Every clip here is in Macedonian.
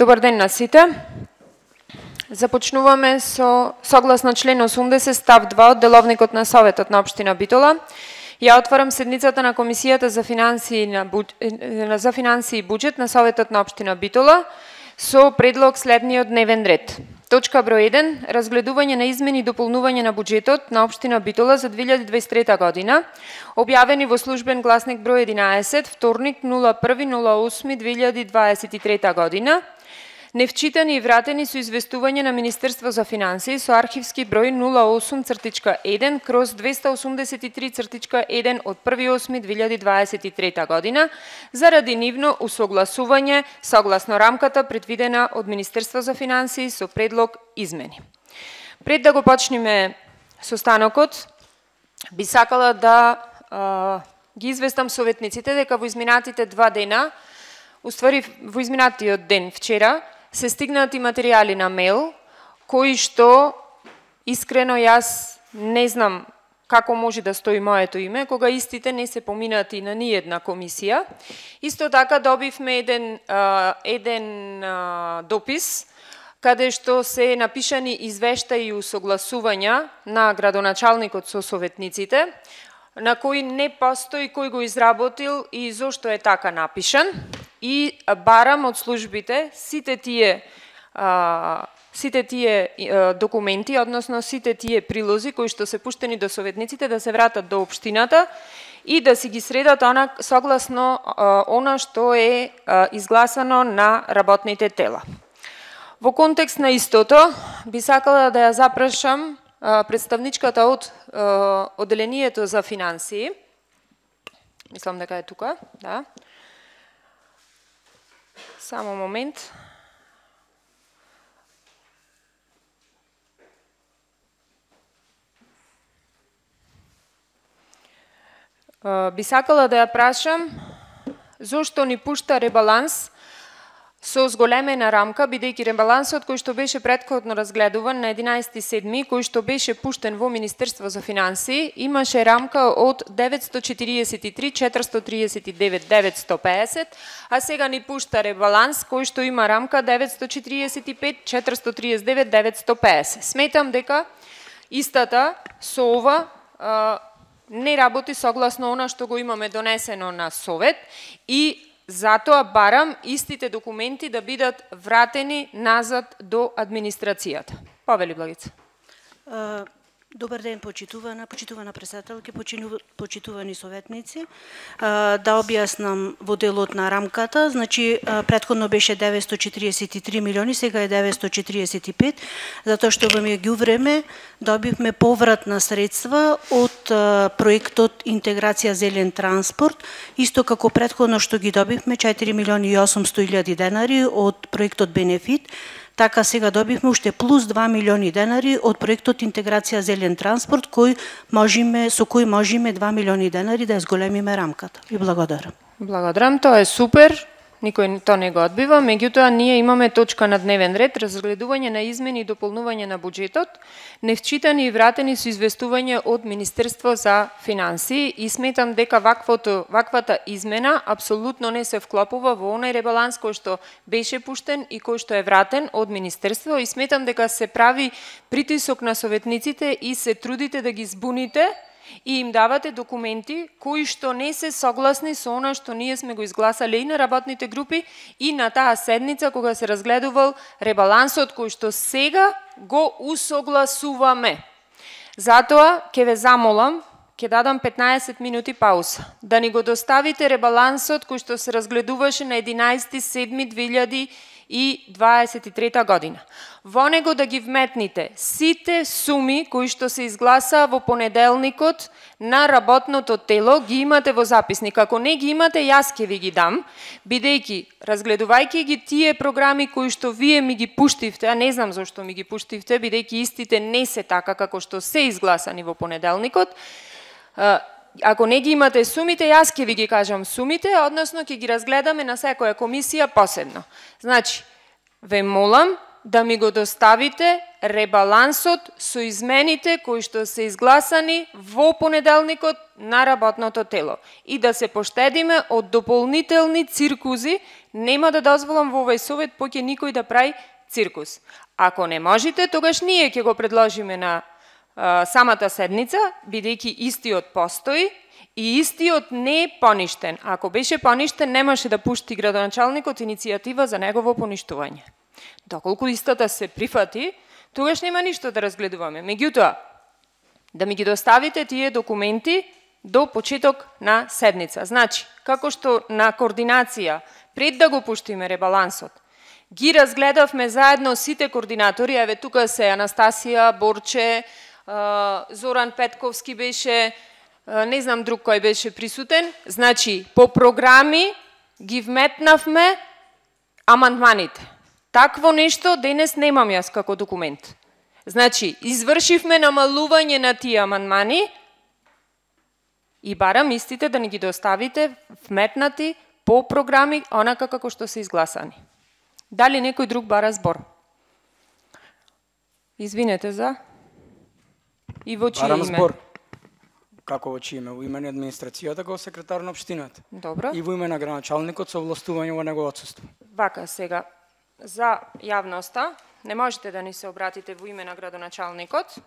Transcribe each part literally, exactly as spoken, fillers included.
Добар ден на сите. Започнуваме со согласно член осумдесет став два од деловникот на Советот на општина Битола. Ја отварам седницата на Комисијата за финансии на буџ... за финансии и буџет на Советот на општина Битола со предлог следниот дневен ред. Точка број еден, разгледување на измени и дополнување на буџетот на општина Битола за две илјади дваесет и трета година, објавени во службен гласник број единаесет, вторник нула први нула осми две илјади дваесет и трета година, невчитани и вратени со известување на Министерство за финансии со архивски број нула осум еден кроз двеста осумдесет и три еден од први осми две илјади дваесет и трета година, заради нивно усогласување согласно рамката предвидена од Министерство за финансии со предлог измени. Пред да го почнеме состанокот, би сакала да а, ги известам советниците дека во изминатите два дена, уствари во изминатиот ден вчера, се стигнати материјали на мейл, кои што искрено јас не знам како може да стои моето име, кога истите не се поминати на ниедна комисија. Исто така добивме еден, а, еден а, допис, каде што се напишани извештаи и усогласувања на градоначалникот со советниците, на кој не постои кој го изработил и зошто е така напишан. И барам од службите сите тие а, сите тие а, документи, односно сите тие прилози кои што се пуштени до советниците да се вратат до општината и да си ги средат она согласно а, она што е а, изгласано на работните тела. Во контекст на истото би сакала да ја запрашам а, представничката од а, одделението за финансии. Мислам дека е тука, да. Само момент. Би сакала да ја прашам зошто ни пушта ребаланс со зголемена рамка, бидејќи ребалансот кој што беше претходно разгледуван на единаесети седми, кој што беше пуштен во Министерство за финансии, имаше рамка од деветсто четириесет и три четиристо тридесет и девет деветсто пеесет, а сега ни пушта ребаланс кој што има рамка деветсто четириесет и пет четиристо тридесет и девет деветсто пеесет. Сметам дека истата со ова а, не работи согласно она што го имаме донесено на Совет и затоа барам истите документи да бидат вратени назад до администрацијата. Повели Благица. Добар ден, почитувана, почитувана председателке, почитувани советници. Да објаснам во делот на рамката, значи претходно беше деветсто четириесет и три милиони, сега е деветсто четириесет и пет, затоа што во меѓувреме добивме повратна средства од проектот Интеграција зелен транспорт, исто како претходно што ги добивме четири милиони и осумсто илјади денари од проектот Бенефит, така сега добивме уште плюс два милиони денари од проектот Интеграција зелен транспорт, кој можеме, со кој можеме два милиони денари да ја зголемиме рамката. И благодарам. Благодарам, тоа е супер. Никој тоа не го одбива, меѓутоа ние имаме точка на дневен ред, разгледување на измени и дополнување на буџетот, невчитани и вратени со известување од Министерство за финансии и сметам дека ваквото, ваквата измена апсолутно не се вклопува во онај ребаланс кој што беше пуштен и кој што е вратен од Министерство и сметам дека се прави притисок на советниците и се трудите да ги збуните и им давате документи кои што не се согласни со она што ние сме го изгласале и на работните групи и на таа седница кога се разгледувал ребалансот кој што сега го усогласуваме. Затоа ќе ве замолам, ќе дадам петнаесет минути пауза, да ни го доставите ребалансот кој што се разгледуваше на единаесети седми две илјади и дваесет и трета година. Во него да ги вметните сите суми кои што се изгласаа во понеделникот на работното тело, ги имате во записник. Ако не ги имате, јас ќе ви ги дам, бидејќи разгледувајќи ги тие програми кои што вие ми ги пуштивте, а не знам зошто ми ги пуштивте, бидејќи истите не се така како што се изгласани во понеделникот, ако не ги имате сумите, јас ќе ви ги кажам сумите, односно ќе ги разгледаме на секоја комисија посебно. Значи, ве молам да ми го доставите ребалансот со измените кои што се изгласани во понеделникот на работното тело и да се поштедиме од дополнителни циркузи. Нема да дозволам во овој совет поќе никој да прави циркус. Ако не можете, тогаш ние ќе го предложиме на а, самата седница, бидејќи истиот постои и истиот не е поништен. Ако беше поништен, немаше да пушти градоначалникот иницијатива за негово поништување. Доколку истата се прифати, тогаш нема ништо да разгледуваме. Меѓутоа, да ми ги доставите тие документи до почеток на седница. Значи, како што на координација, пред да го пуштиме ребалансот, ги разгледавме заедно сите координатори, еве тука се Анастасија, Борче, Зоран Петковски беше, не знам друг кој беше присутен, значи, по програми ги вметнавме амандманите. Такво нешто денес немам јас како документ. Значи, извршивме намалување на тие амандмани и барам истите да ни ги доставите вметнати по програми, онака како што се изгласани. Дали некој друг бара збор? Извинете за... И во чие Барам име? збор. Како во чие име? Во име на администрацијата како секретар на општината. Добро. И во име на градоначалникот со овластување во негово отсуство. Вака сега, за јавноста, не можете да ни се обратите во име на градоначалникот,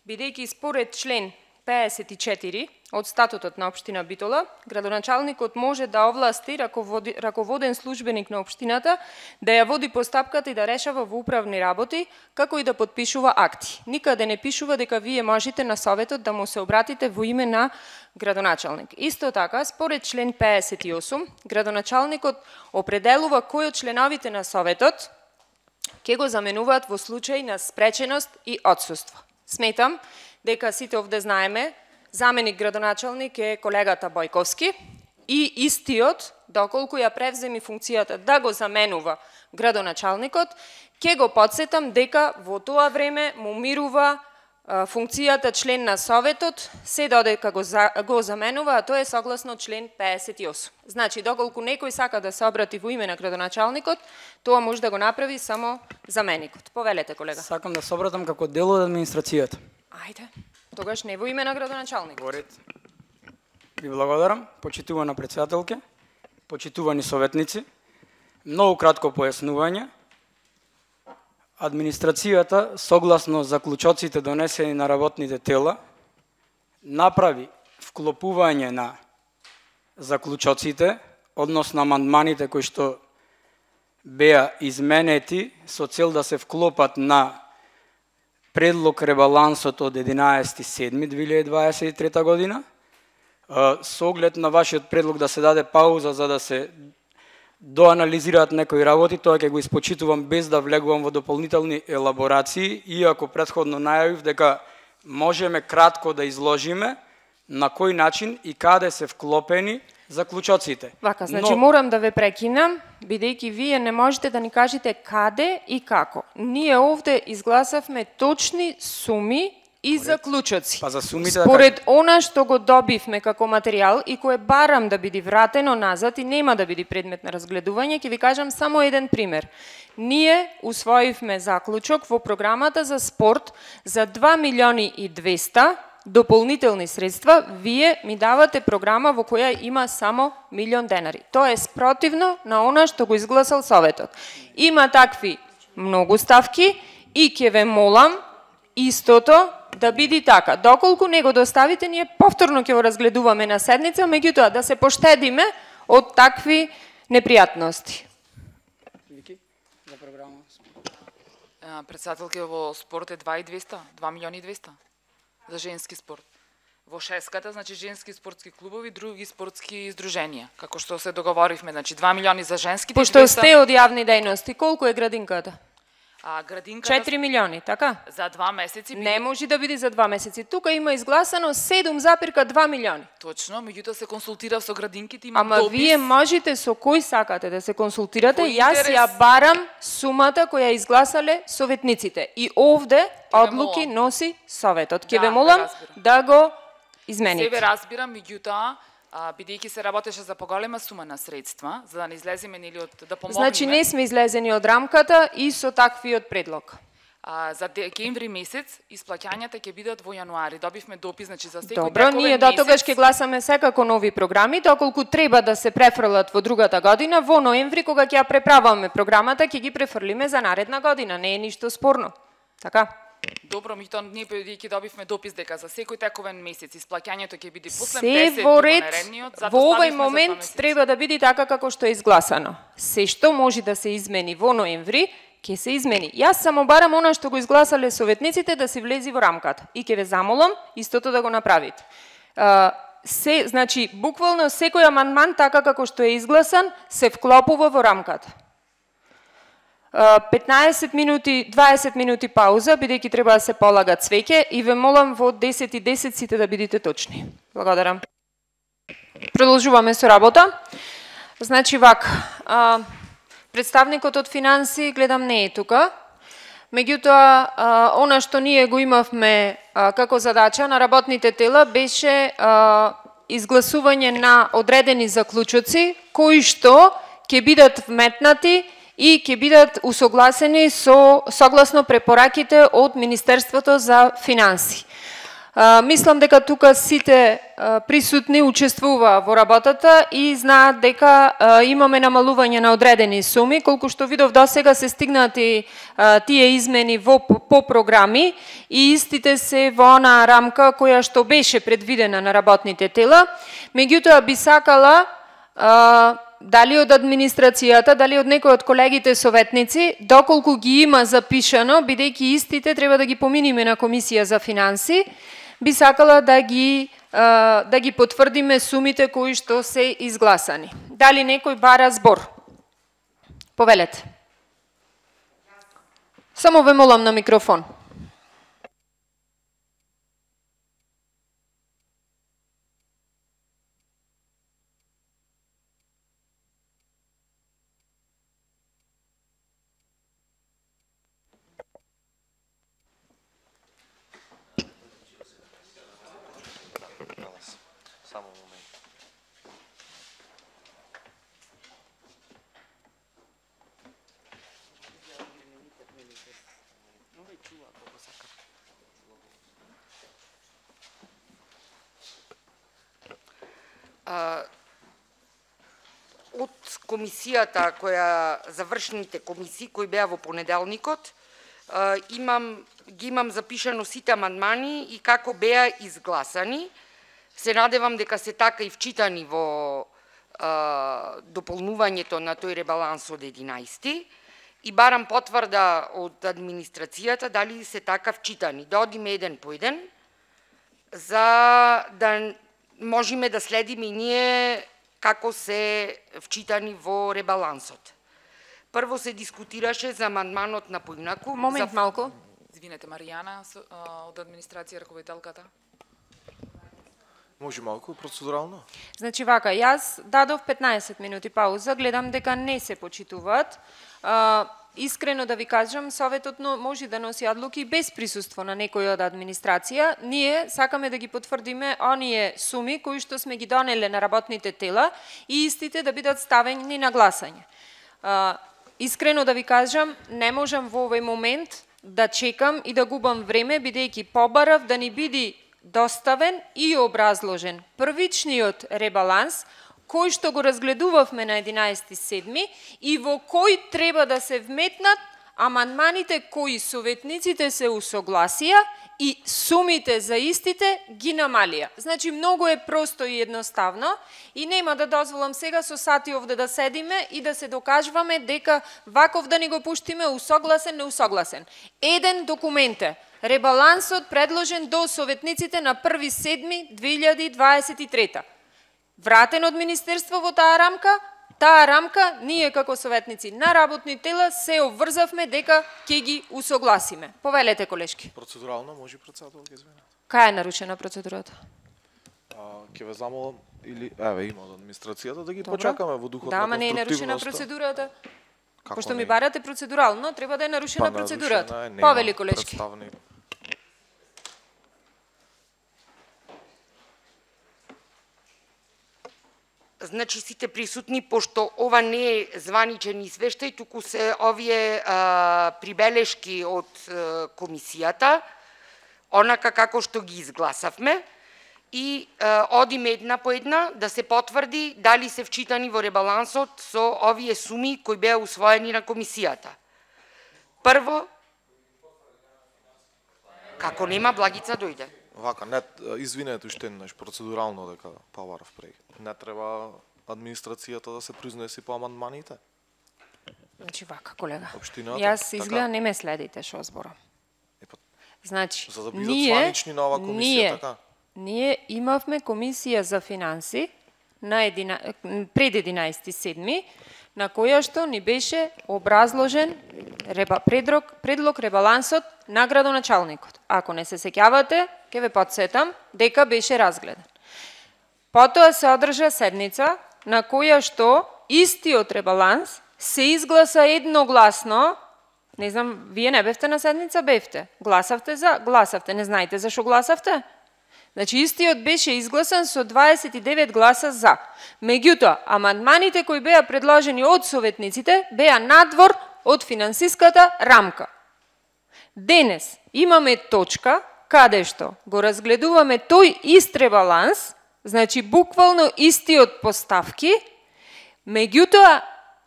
бидејќи според член пеесет и четири од статутот на општина Битола, градоначалникот може да овласти раководи, раководен службеник на општината да ја води постапката и да решава во управни работи, како и да подпишува акти. Никаде не пишува дека вие можете на советот да му се обратите во име на градоначалник. Исто така, според член пеесет и осум, градоначалникот определува кој од членовите на советот ќе го заменуваат во случај на спреченост и отсуство. Сметам дека сите овде знаеме, заменик градоначалник е колегата Бојковски и истиот, доколку ја превземи функцијата да го заменува градоначалникот, ќе го подсетам дека во тоа време му мирува а, функцијата член на советот, се додека го, за, го заменува, а тоа е согласно член пеесет и осум. Значи, доколку некој сака да се обрати во име на градоначалникот, тоа може да го направи само заменикот. Повелете, колега. Сакам да се обратам како дел од администрацијата. Ајде, тогаш не во име на градоначалникот. Во ред. Ви благодарам, почитувана председателке, почитувани советници. Многу кратко појаснување. Администрацијата, согласно заклучоците донесени на работните тела, направи вклопување на заклучоците, односно амандманите кои што беа изменети со цел да се вклопат на предлог ребалансот од единаесети седми две илјади дваесет и трета година, со оглед на вашиот предлог да се даде пауза за да се доанализираат некои работи, тоа ќе го испочитувам без да влегувам во дополнителни елаборации, иако претходно најавив дека можеме кратко да изложиме на кој начин и каде се вклопени заклучоците. Вака, значи Но... морам да ве прекинам, бидејќи вие не можете да ни кажете каде и како. Ние овде изгласавме точни суми и заклучоци. Па за сумите Според да она што го добивме како материјал и кое барам да биде вратено назад и нема да биде предмет на разгледување, ќе ви кажам само еден пример. Ние усвоивме заклучок во програмата за спорт за два милиони и двеста дополнителни средства, вие ми давате програма во која има само милион денари. Тоа е спротивно на она што го изгласал советот. Има такви многу ставки и ќе ве молам истото да биде така. Доколку не го доставите, ние повторно ќе го разгледуваме на седница, меѓутоа да се поштедиме од такви непријатности. За програма. Председателке, во спорт е два милиони и двеста, два милиони и двеста за женски спорт. Во шеската, значи женски спортски клубови, други спортски издруженија. Како што се договоривме, значи два милиони за женските. Пошто сте од јавни дејности, колку е градинката? А градинката четири милиони, така? За два месеци биде... Не може да биде за два месеци. Тука има изгласано седум запирка два милиони. Точно, меѓутоа се консултирав со градинките, има Ама допис. вие можете со кој сакате да се консултирате, Во јас интерес... ја барам сумата која изгласале советниците. И овде одлуки носи советот. Ќе Да, ве молам да да го измените. Себе разбирам, меѓутоа А, бидејќи се работеше за поголема сума на средства, за да не излеземе нели од да помогнеме. Значи не сме излезени од рамката и со таквиот предлог. А, за декември месец исплаќањата ќе бидат во јануари. Добивме допис, значи за секој Добро, ние до тогаш ќе гласаме секако нови програми, доколку треба да се префрлат во другата година, во ноември кога ќе ја преправаме програмата, ќе ги префрлиме за наредна година, не е ништо спорно. Така? Добро, ми тоа ние бидејќи добивме допис дека за секој тековен месец исплаќањето ќе биде после Се десет во ред, наредниот, во овој момент треба да биде така како што е изгласано. Се што може да се измени во ноември, ќе се измени. Јас само барам она што го изгласале советниците да се влези во рамката. И ќе ве замолам истото да го направите. А, се, значи, буквално секој амандман така како што е изгласан се вклопува во рамката. петнаесет минути, дваесет минути пауза, бидејќи треба да се полага цвеќе и ве молам во десет и десет сите да бидете точни. Благодарам. Продолжуваме со работа. Значи вак, а, представникот од финанси гледам не е тука. Меѓутоа, а, она што ние го имавме а, како задача на работните тела беше а, изгласување на одредени заклучоци кои што ќе бидат вметнати и ќе бидат усогласени со согласно препораките од Министерството за финанси. А, мислам дека тука сите а, присутни учествуваа во работата и знаат дека а, имаме намалување на одредени суми, колку што видов досега се стигнати а, тие измени во по програми и истите се во онаа рамка која што беше предвидена на работните тела. Меѓутоа би сакала а, дали од администрацијата, дали од некој од колегите советници, доколку ги има запишано, бидејќи истите треба да ги поминиме на Комисија за финанси, би сакала да ги да ги потврдиме сумите кои што се изгласани. Дали некој бара збор? Повелете. Само ве молам на микрофон. Од комисијата која завршните комисии кои беа во понеделникот, имам ги имам запишано сите амандмани и како беа изгласани. Се надевам дека се така и вчитани во а, дополнувањето на тој ребаланс од единаесети и барам потврда од администрацијата дали се така вчитани. Да одиме еден по еден за да можеме да следиме и ние како се вчитани во ребалансот. Прво се дискутираше за амандманот на поинаку. Момент за... малку. Извинете, Маријана од администрација, раководителката. Може малку процедурално? Значи вака, јас дадов петнаесет минути пауза, гледам дека не се почитуваат. А, искрено да ви кажам, Советот може да носи одлуки без присуство на некој од администрација. Ние сакаме да ги потврдиме оние суми кои што сме ги донеле на работните тела и истите да бидат ставени на гласање. А, искрено да ви кажам, не можам во овој момент да чекам и да губам време, бидејќи побарав да ни биде доставен и образложен првичниот ребаланс, кој што го разгледувавме на единаесети седми и во кој треба да се вметнат амандманите кои советниците се усогласија и сумите за истите ги намалија. Значи, многу е просто и едноставно и нема да дозволам сега со сати овде да седиме и да се докажуваме дека ваков да ни го пуштиме усогласен, неусогласен. Еден документ е ребалансот предложен до советниците на први седми две илјади дваесет и трета. Вратен од Министерство во таа рамка, таа рамка, ние како советници на работни тела се обврзавме дека ќе ги усогласиме. Повелете, колешки. Процедурално може председател ќе извини. Кај е нарушена процедурата? А, ќе ве замолам или еве има од администрацијата да ги Добро. Почакаме во духот да, на конструктивноста. Да, ама не е нарушена процедурата. Како Пошто не? Ми барате процедурално, треба да е нарушена па, процедурата. Нарушена, Повели, колешки. Представник. значи сите присутни, пошто ова не е званичен извештај, туку се овие а, прибелешки од а, комисијата, онака како што ги изгласавме, и а, одиме една по една да се потврди дали се вчитани во ребалансот со овие суми кои беа усвоени на комисијата. Прво, како нема, Благица дојде. Вака, не, извинете уште еднаш процедурално дека Паваров преги. Не треба администрацијата да се произнеси по амандманите? Значи вака, колега. Општината, Јас изгледа така. не ме следите што зборам. Епа, Значи, за да бидат ние, званични на ова комисија, ние, така? ние имавме комисија за финанси на едина, пред единаесети седми, на која што ни беше образложен реба, предлог, предлог ребалансот на градоначалникот. Ако не се сеќавате, ќе ве потсетам дека беше разгледан. Потоа се одржа седница на која што истиот ребаланс се изгласа едногласно. Не знам, вие не бевте на седница, бевте. Гласавте за, гласавте. Не знаете зашо гласавте? Значи, истиот беше изгласан со дваесет и девет гласа за. Меѓутоа, амандманите кои беа предложени од советниците беа надвор од финансиската рамка. Денес имаме точка каде што го разгледуваме тој ист ребаланс, значи буквално истиот поставки, меѓутоа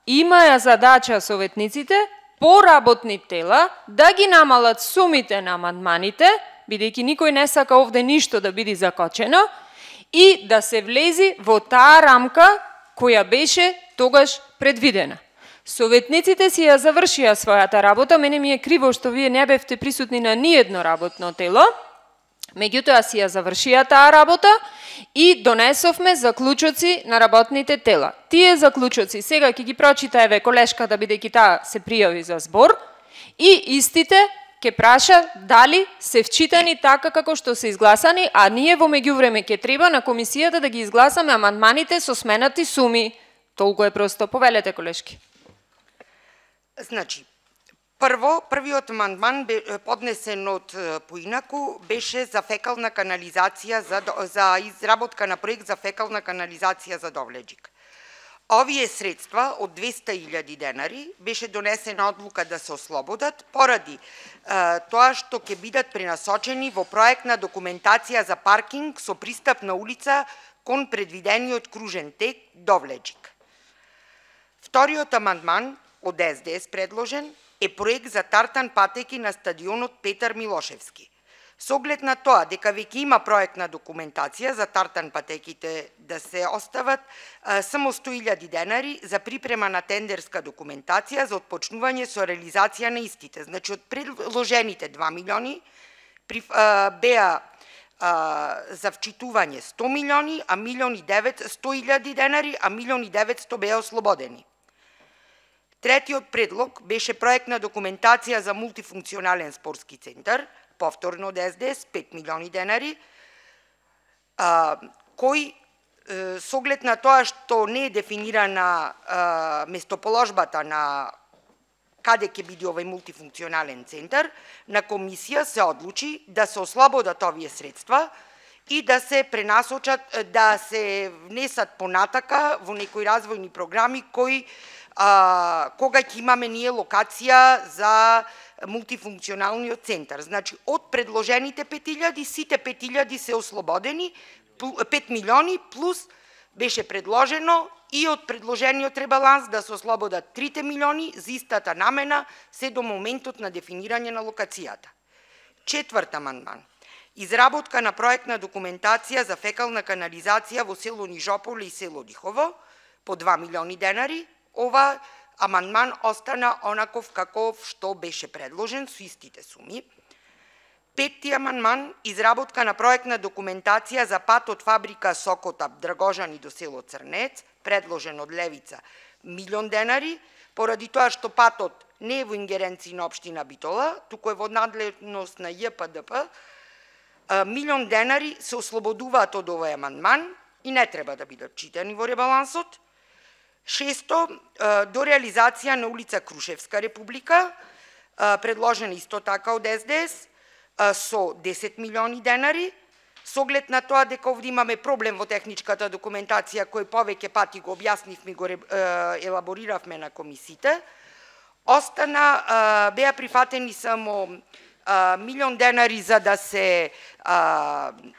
имаја задача советниците по работни тела да ги намалат сумите на амандманите, бидејќи никој не сака овде ништо да биде закочено, и да се влези во таа рамка која беше тогаш предвидена. Советниците си ја завршија својата работа, мене ми е криво што вие не бевте присутни на ниедно работно тело, меѓутоа си ја завршија таа работа и донесовме заклучоци на работните тела. Тие заклучоци сега ќе ги прочита еве колешката, бидејќи таа се пријави за збор, и истите ќе праша дали се вчитани така како што се изгласани, а ние во меѓувреме ќе треба на комисијата да ги изгласаме амандманите со сменати суми. Толку е просто. Повелете, колешки. Значи, прво, првиот амандман поднесен од поинаку беше за фекална канализација, за, за изработка на проект за фекална канализација за Довлеџик. Овие средства од двесте илјади денари беше донесена одлука да се ослободат поради е, тоа што ќе бидат пренасочени во проектна документација за паркинг со пристапна улица кон предвидениот кружен тек Довлеџик. Вториот амандман од Ес Де Ес предложен е проект за тартан патеки на стадионот Петар Милошевски. Со оглед на тоа дека веќе има проектна документација за тартан патеките да се остават а, само сто илјади денари за припрема на тендерска документација за отпочнување со реализација на истите. Значи, од предложените два милиони при, а, беа а, за вчитување сто милиони, а милион и девет сто илјади денари, а милион и деветсто беа ослободени. Третиот предлог беше проектна документација за мултифункционален спортски центар, повторно од Ес Де Ес, пет милиони денари, а, кој е, со оглед на тоа што не е дефинирана а, местоположбата на каде ќе биде овој мултифункционален центар, на комисија се одлучи да се ослободат овие средства и да се пренасочат, да се внесат понатака во некои развојни програми кои а, кога ќе имаме ние локација за мултифункционалниот центар. Значи, од предложените пет илјади, сите пет илјади се ослободени, пет милиони плюс беше предложено и од предложениот ребаланс да се ослободат трите милиони за истата намена се до моментот на дефинирање на локацијата. Четврт амандман. Изработка на проектна документација за фекална канализација во село Нижополе и село Дихово по два милиони денари. Ова амандман остана онаков каков што беше предложен со истите суми. Петти амандман, изработка на проектна документација за пат од фабрика Сокотап Драгожани до село Црнец, предложен од Левица, милион денари, поради тоа што патот не е во ингеренција на општина Битола, туку е во надлежност на Ја П Д П, милион денари се ослободуваат од овој амандман и не треба да бидат читани во ребалансот. Шесто, до реализација на улица Крушевска Република, предложена исто така од Ес Де Ес, со десет милиони денари, Со оглед на тоа дека овде имаме проблем во техничката документација, кој повеќе пати го објаснивме, го елабориравме на комисиите, остана, беа прифатени само милион денари за да се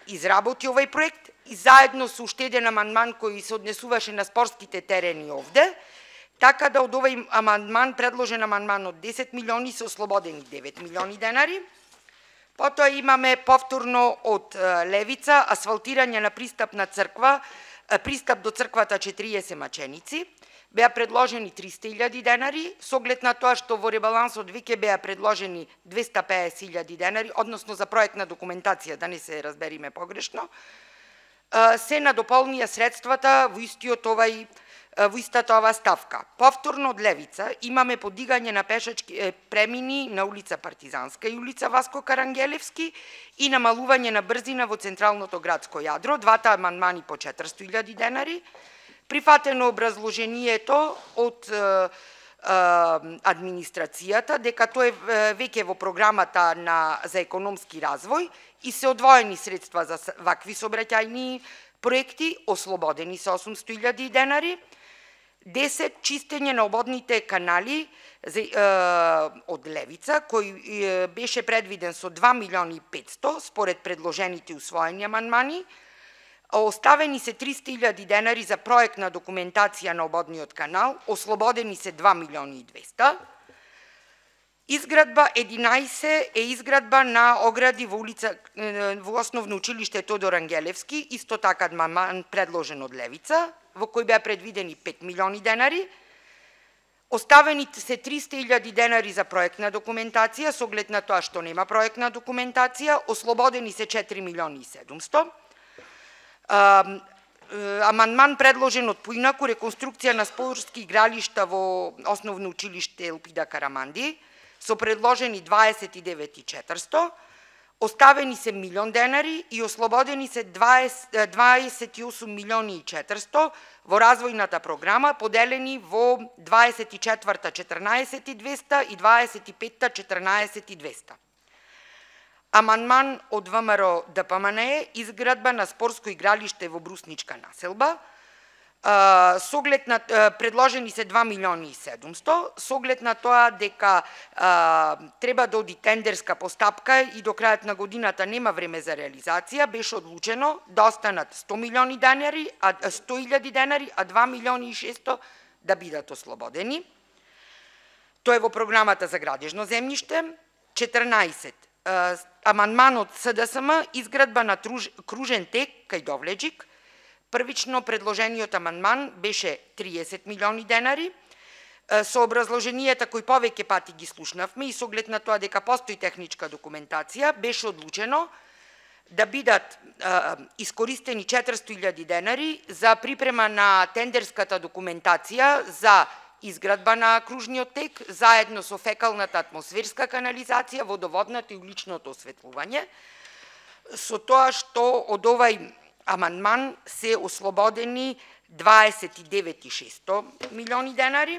изработи овој проект и заедно со уште еден амандман кој се однесуваше на спортските терени овде, така да од овој амандман, предложен амандман од десет милиони, се ослободени девет милиони денари. Потоа имаме повторно од Левица асфалтирање на пристапна црква, пристап до црквата четириесет маченици. Беа предложени триста илјади денари, со оглед на тоа што во ребалансот веќе беа предложени двеста песет илјади денари, односно за проектна документација, да не се разбериме погрешно, се надополнија средствата во истиот овај во истата ова ставка. Повторно од Левица имаме подигање на пешачки премини на улица Партизанска и улица Васко Карангелевски и намалување на брзина во централното градско јадро, двата амандмани по четиристо илјади денари. Прифатено образложението од е, е, администрацијата дека тоа е веќе во програмата на за економски развој и се одвоени средства за вакви сообраќајни проекти, ослободени се осумсто илјади денари. десет чистење на ободните канали за, е, од Левица, кој е, беше предвиден со два милиони и петсто според предложените усвоени амандмани. Оставени се триста илјади денари за проектна документација на ободниот канал, ослободени се два милиони и двеста. Изградба единаесет е изградба на огради во улица во основно училиште Тодор Ангелевски, исто така амандман предложен од Левица, во кој беа предвидени пет милиони денари. Оставени се триста илјади денари за проектна документација, со оглед на тоа што нема проектна документација, ослободени се четири милиони и седумсто. Амандман предложен од Поинаку, реконструкција на спортски игралишта во основно училиште Елпида Караманди, со предложени дваесет и девет и четиристо, оставени се милион денари и ослободени се дваесет и осум милиони и четиристо во развојната програма, поделени во дваесет и четврта четрнаесет и двеста и дваесет и петта четрнаесет и двеста. Амандман од ВМРО ДПМНЕ, изградба на спортско игралиште во Брусничка населба, со оглед на предложени се два милиони и седумсто, со оглед на тоа дека а, треба да оди тендерска постапка и до крајот на годината нема време за реализација, беше одлучено да останат сто милиони денари, а сто илјади денари, а два милиони и шесто да бидат ослободени. Тоа е во програмата за градежно земјиште. четрнаесет. Амандманот СДСМ, изградба на кружен тек кај Довлеџик. Првично предложениот амандман беше триесет милиони денари. Со образложенијата кои повеќе пати ги слушнавме и со оглед на тоа дека постои техничка документација, беше одлучено да бидат а, искористени четиристо илјади денари за припрема на тендерската документација за изградба на кружниот тек, заедно со фекалната атмосферска канализација, водоводната и уличното осветлување, со тоа што од овај амандман се ослободени дваесет и девет и шесто милиони денари.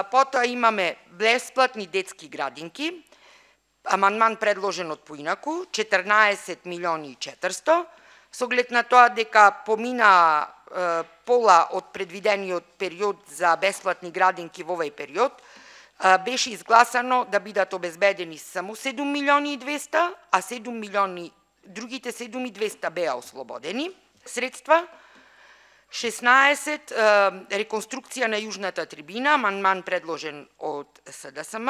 Потоа имаме бесплатни детски градинки, амандман предложен од Поинаку, четрнаесет милиони и четиристо, со оглед на тоа дека помина е, пола од предвидениот период за бесплатни градинки во овој период, е, беше изгласано да бидат обезбедени само седум милиони и двеста, а седум милиони, другите седум милиони и двеста беа ослободени средства. шеснаесет е, реконструкција на јужната трибина, амандман предложен од СДСМ,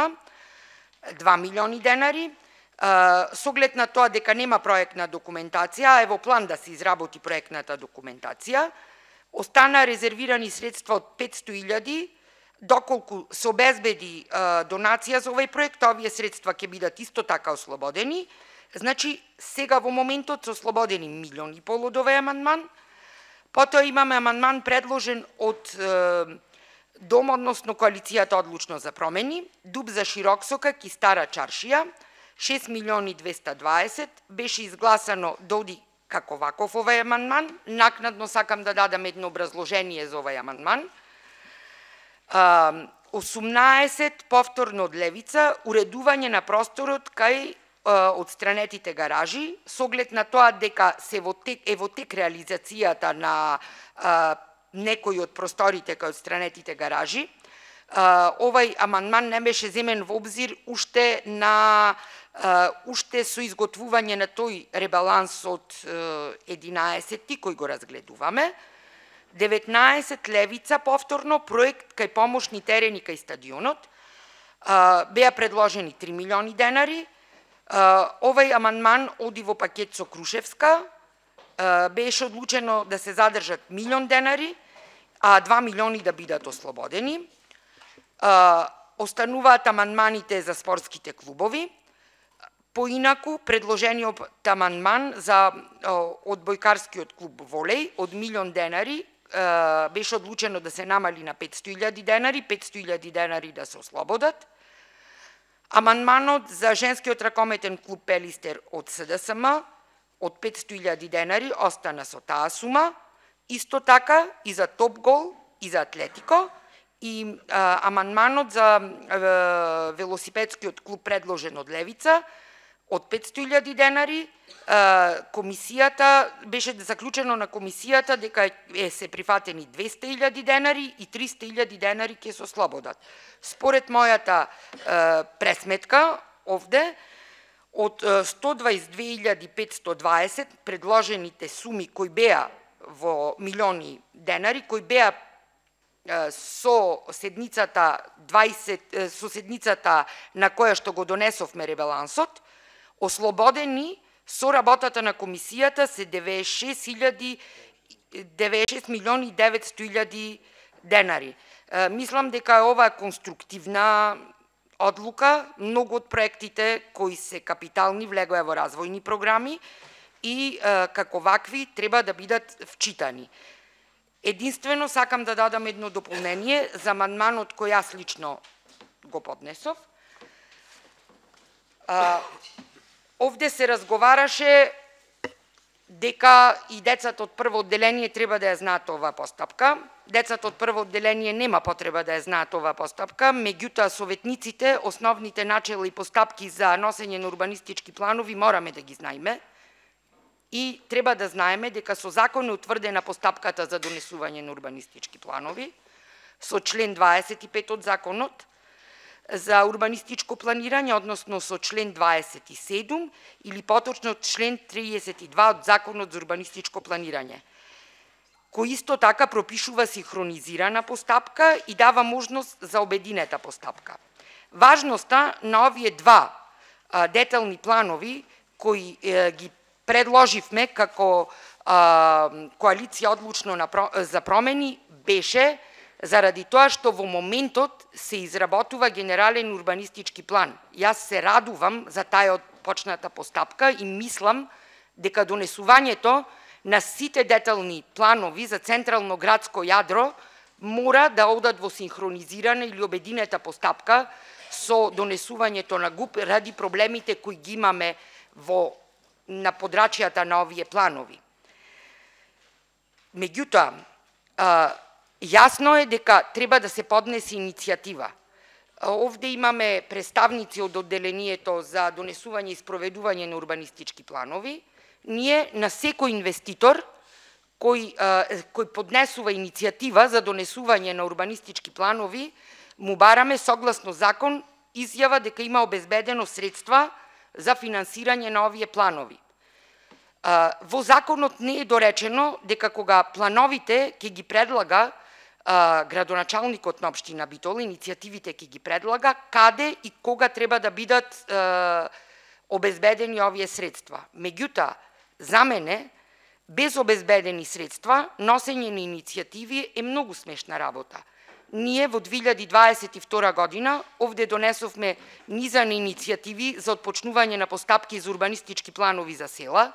два милиони денари. Со оглед на тоа дека нема проектна документација, а е во план да се изработи проектната документација, остана резервирани средства од петсто илјади, доколку се обезбеди донација за овој проект, овие средства ќе бидат исто така ослободени. Значи, сега во моментот се ослободени милион и пол од овој амандман. Потоа имаме амандман предложен од е, Дом, односно коалицијата Одлучно за промени, Дуб за Широксока, ки Стара Чаршија, шест милиони двеста дваесет, беше изгласано да оди како ваков овој амандман. Накнадно сакам да дадам едно образложение за овој амандман. осумнаесет, повторно од Левица, уредување на просторот кај од странетите гаражи, со оглед на тоа дека се во тек, е во тек реализацијата на а, некои од просторите кај од странетите гаражи. А, овај амандман не беше земен во обзир уште на а, уште со изготвување на тој ребаланс од единаесетти кој го разгледуваме. деветнаесет левица повторно проект кај помошни терени кај стадионот. А, беа предложени три милиони денари. Uh, овај амандман оди во пакет со Крушевска, uh, беше одлучено да се задржат милион денари, а два милиони да бидат ослободени. Uh, остануваат амандманите за спортските клубови. Поинаку, предложениот амандман за uh, одбојкарскиот клуб Волеј од милион денари uh, беше одлучено да се намали на петсто илјади денари, петсто илјади денари да се ослободат. Амандманот за женскиот ракометен клуб Пелистер од СДСМ од петсто илјади денари остана со таа сума, исто така и за Топ Гол и за Атлетико, и а, амандманот за а, велосипедскиот клуб предложен од Левица од петсто илјади денари, а, комисијата беше заклучено на комисијата дека е се прифатени двесте илјади денари и триста илјади денари ќе се ослободат. Според мојата а, пресметка овде, од сто дваесет две илјади петсто дваесет предложените суми кои беа во милиони денари, кои беа со седницата дваесет со седницата на која што го донесовме ребалансот, ослободени со работата на комисијата се деветдесет и шест илјади деветдесет и шест милиони и деветсто илјади денари. Мислам дека е ова конструктивна одлука. Многу од проектите кои се капитални влегоа во развојни програми и како вакви треба да бидат вчитани. Единствено сакам да дадам едно дополнение за амандманот кој јас лично го поднесов. А, овде се разговараше дека и децата од прво одделение треба да ја знаат оваа постапка. Децата од прво одделение нема потреба да ја знаат оваа постапка, меѓутоа советниците, основните начела и постапки за носење на урбанистички планови мораме да ги знаеме. И треба да знаеме дека со закон е утврдена постапката за донесување на урбанистички планови, со член дваесет и пет од законот за урбанистичко планирање, односно со член дваесет и седум или поточно член триесет и два од законот за урбанистичко планирање, кој исто така пропишува синхронизирана постапка и дава можност за обединета постапка. Важноста на овие два а, детални планови кои е, ги предложивме како а, коалиција одлучно на, за промени беше заради тоа што во моментот се изработува генерален урбанистички план. Јас се радувам за таја почната постапка и мислам дека донесувањето на сите детални планови за централно градско јадро мора да одат во синхронизирана или обединета постапка со донесувањето на ГУП ради проблемите кои ги имаме во на подрачјата на овие планови. Меѓутоа, јасно е дека треба да се поднесе иницијатива. Овде имаме представници од одделението за донесување и спроведување на урбанистички планови. Ние на секој инвеститор кој, кој поднесува иницијатива за донесување на урбанистички планови, му бараме согласно закон изјава дека има обезбедено средства за финансирање на овие планови. Во законот не е доречено дека кога плановите ќе ги предлага градоначалникот на општина Битола, иницијативите ќе ги предлага, каде и кога треба да бидат обезбедени овие средства. Меѓутоа, за мене, без обезбедени средства, носење на иницијативи е многу смешна работа. Ние во две илјади дваесет и втора година овде донесовме низа на иницијативи за отпочнување на постапки за урбанистички планови за села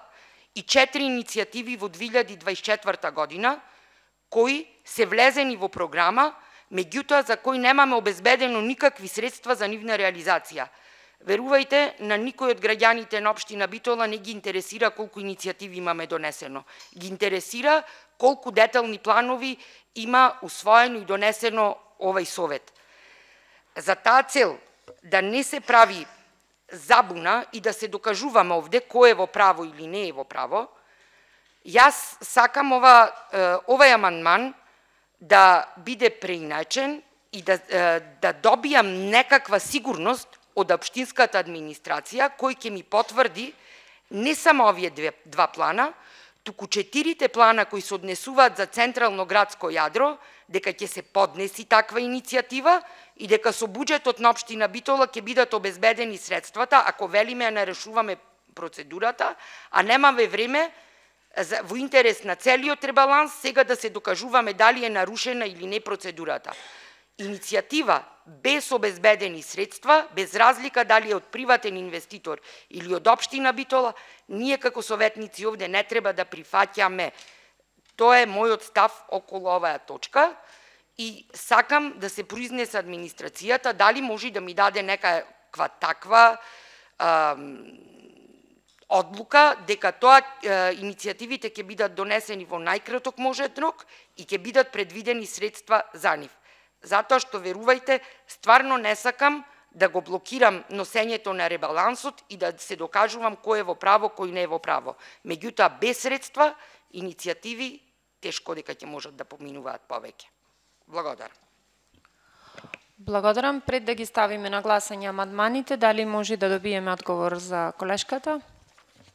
и четири иницијативи во две илјади дваесет и четврта година кои се влезени во програма, меѓутоа за кои немаме обезбедено никакви средства за нивна реализација. Верувајте, на никој од граѓаните на општина Битола не ги интересира колку иницијативи имаме донесено. Ги интересира колку детални планови има усвоено и донесено овај совет. За таа цел да не се прави забуна и да се докажуваме овде кој е во право или не е во право, јас сакам ова, овај амандман да биде преиначен и да, да добијам некаква сигурност од општинската администрација, кој ќе ми потврди не само овие две, два плана, туку четирите плана кои се однесуваат за централно градско јадро, дека ќе се поднеси таква иницијатива и дека со буџетот на општина Битола ќе бидат обезбедени средствата, ако велиме ја нарешуваме процедурата, а немаме време во интерес на целиот ребаланс сега да се докажуваме дали е нарушена или не процедурата. Иницијатива без обезбедени средства, без разлика дали е од приватен инвеститор или од општина Битола, ние како советници овде не треба да прифаќаме. Тоа е мојот став околу оваа точка и сакам да се произнесе администрацијата дали може да ми даде некаква таква а, одлука дека тоа а, иницијативите ќе бидат донесени во најкраток можен рок и ќе бидат предвидени средства за нив. Затоа што, верувајте, стварно не сакам да го блокирам носењето на ребалансот и да се докажувам кој е во право, кој не е во право. Меѓутоа, без средства, иницијативи тешко дека ќе можат да поминуваат повеќе. Благодарам. Благодарам. Пред да ги ставиме на гласање амандманите, дали може да добиеме одговор за колешката?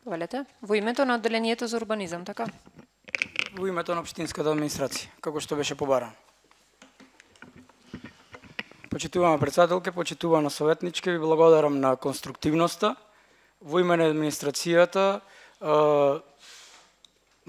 Велете. Во името на одделението за урбанизам, така? Во името на општинската администрација, како што беше побарано. Почитувана председателке, почитувана советничке, ви благодарам на конструктивноста. Во име на администрацијата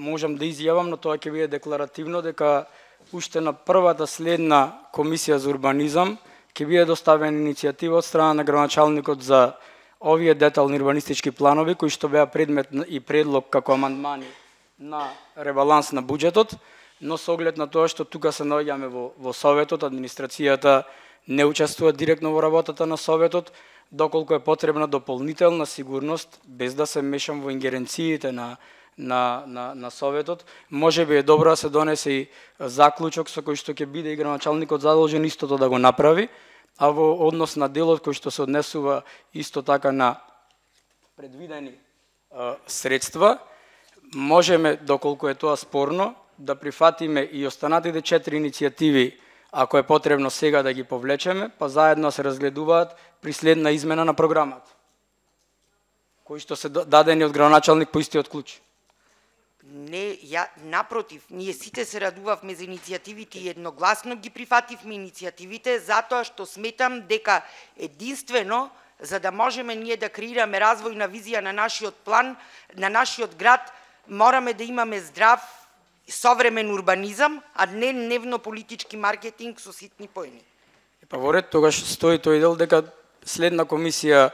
можам да изјавам, но тоа ќе биде декларативно, дека уште на првата следна комисија за урбанизам ќе биде доставена иницијатива од страна на градоначалникот за овие детални урбанистички планови, кои што беа предмет и предлог како амандмани на ребаланс на буџетот, но со оглед на тоа што тука се наоѓаме во, во Советот, администрацијата не учествува директно во работата на Советот, доколку е потребна дополнителна сигурност, без да се мешам во ингеренциите на На, на, на Советот, може би е добро да се донесе и заклучок со кој што ќе биде и градоначалникот задолжен истото да го направи, а во однос на делот кој што се однесува исто така на предвидени а, средства, можеме, доколку е тоа спорно, да прифатиме и останатите четири иницијативи, ако е потребно сега да ги повлечеме, па заедно се разгледуваат при следна измена на програмата, кои што се дадени од градоначалник по истиот клуч. Не, ја, напротив, ние сите се радувавме за иницијативите и едногласно ги прифативме иницијативите, затоа што сметам дека единствено, за да можеме ние да креираме развојна визија на нашиот план, на нашиот град, мораме да имаме здрав, современ урбанизам, а не дневно-политички маркетинг со ситни поени. Па во ред, тогаш стои тој дел дека следна комисија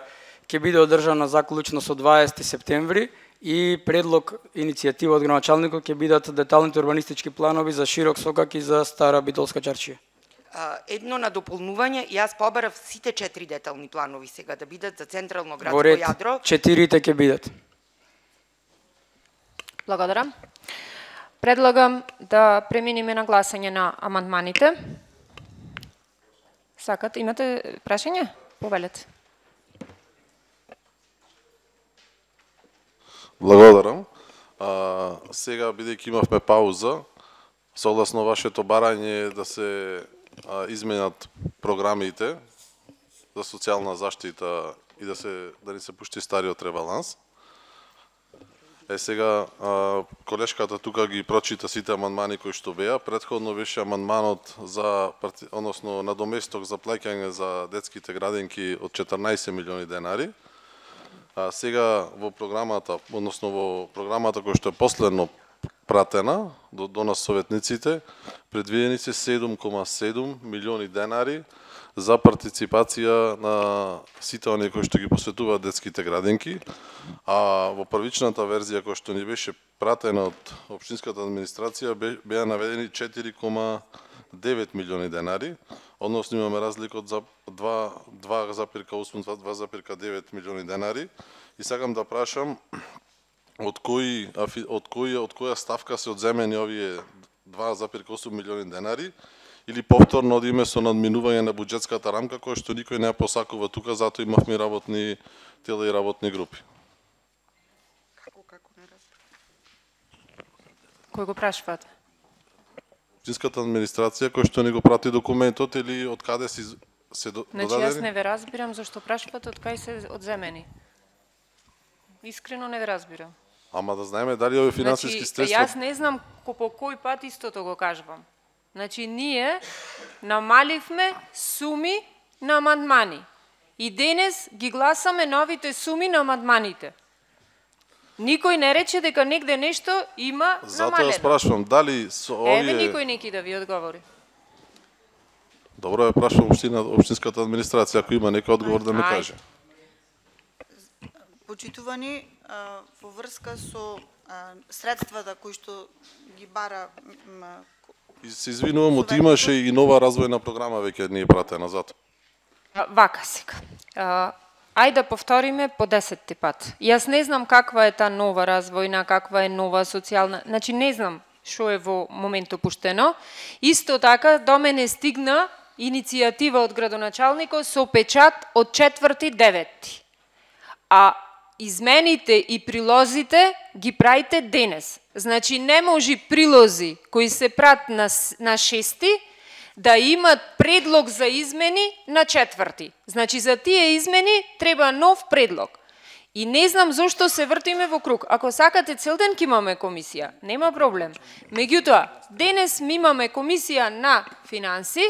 ќе биде одржана заклучно со дваесети септември, и предлог иницијатива од градоначалникот ќе бидат деталните урбанистички планови за Широк сокак и за Стара Битолска чаршија. Едно на дополнување, јас побарав сите четири детални планови сега да бидат за централно градско во ред, јадро. Четирите ќе бидат. Благодарам. Предлагам да преминеме на гласање на амандманите. Сакат, имате прашање? Повелете. Благодарам. А, сега, бидејќи имавме пауза, согласно вашето барање да се а, изменат програмите за социјална заштита и да се да ни се пушти стариот ребаланс. Е сега а, колешката тука ги прочита сите амандмани кои што беа. Претходно беше амандманот за односно надоместок за плаќање за детските градинки од четрнаесет милиони денари. А сега во програмата, односно во програмата која што е последно пратена до, до нас советниците, предвидени се седум кома седум милиони денари за партиципација на сите оние кои што ги посветуваат детските градинки, а во првичната верзија која што ни беше пратена од општинската администрација беа наведени четири кома девет милиони денари, односно имаме разлика од два запирка осум до два запирка девет милиони денари. И сакам да прашам од кои од која од која ставка се одземени овие два запирка осум милиони денари или повторно одиме со надминување на буџетската рамка, која што никој не ја посакува тука, затоа имавме работни тела и работни групи. Како, како не разбирам? Кој го прашувате? Општинската администрација која што ни го прати документот или од каде си се додадени? Значи јас не ве разбирам зашто прашувате од кај се одземени. Искрено не ве разбирам. Ама да знаеме дали овие финансиски Значи, средства... јас не знам по кој пат истото го кажувам. Значи, ние намаливме суми на амандмани. И денес ги гласаме новите суми на амандманите. Никој не рече дека негде нешто има Затоа намалено. ја спрашувам, дали со овие... Еве никој неки да ви одговори. Добро, ја прашувам општина, општинската администрација, ако има некој одговор да ми Ајде. каже. Почитувани, а, во врска со а, средствата кои што ги бара м, И се извинувам, од имаше и нова развојна програма веќе не е пратена затоа. А, Вака сега. А, Ајде да повториме по десетти пат. Јас не знам каква е та нова развојна, каква е нова социјална, значи не знам што е во моментот пуштено. Исто така до мене стигна иницијатива од градоначалникот со печат од четврти деветти. А измените и прилозите ги правите денес. Значи не може прилози кои се прат на, на шести да имат предлог за измени на четврти. Значи за тие измени треба нов предлог. И не знам зошто се вртиме во круг. Ако сакате цел ден ќе имаме комисија, нема проблем. Меѓутоа, денес ми имаме комисија на финанси